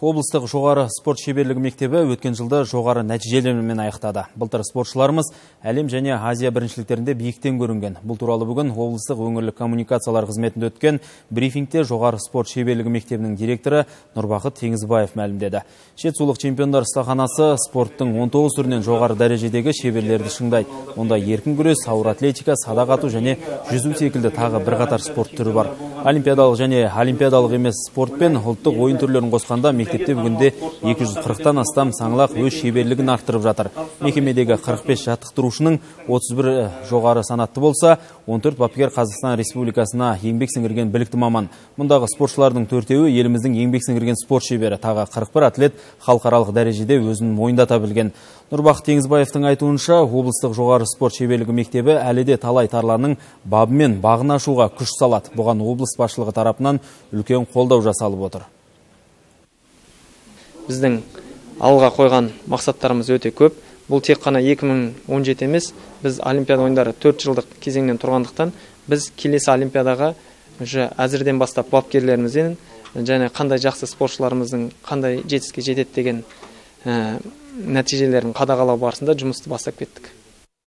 облыстық жоғары спорт шеберлігі мектебі өткен жылды жоғары нәтижелермен аяқтады. Былтыр спортшыларымыз әлем және Азия біріншіліктерінде биіктен көрінген. Бұл туралы бүгін облыстық өңірлік коммуникациялар қызметінде өткен брифингте жоғары спорт шеберлігі мектебінің директоры Нұрбақыт Теңізбаев мәлімдеді. Жетісулық чемпиондар стаханасы спорттың 19 түрінен жоғары дәрежедегі шеберлерді шыңдайды. Онда еркін күрес, ауыр атлетика, садақ ату және жүзу секілді тағы бірқатар спорт түрі бар. Олимпиадалық және олимпиадалық емес спорт пен ұлттық ойын түрлерін қосқанда мектепте бүгінде 240-тан астам саңлақ өз шеберлігін арттырып жатыр. Мекемедегі 45 жаттықтырушының 31 жоғары санатты болса, 14 бапкер Қазақстан Республикасына еңбек сіңірген білікті маман. Мұндағы спортшылардың 4-еуі еліміздің еңбек сіңірген спорт шебері, тағы 41 атлет халықаралық дәрежеде өзін мойындата білген. Нұрбақыт Теңізбаевтың айтуынша, облыстық жоғары спорт шеберлігі мектебі әлі де талай тарланның бабымен бағын ашуға күш салады. Бұған облыс басшылығы тарапынан үлкен қолдау жасалып отыр. Біздің алға қойған мақсаттарымыз өте көп. Бұл тек қана 2017 емес, біз Олимпиада ойындары 4 жылдық кезеңнен тұрғандықтан, біз келесі Олимпиадаға әзірден бастап бапкерлерімізден және қандай жақсы спортшыларымыздың қандай жетістікке жетеді деген нәтижелерін қадағалау барысында жұмысты бастап кеттік.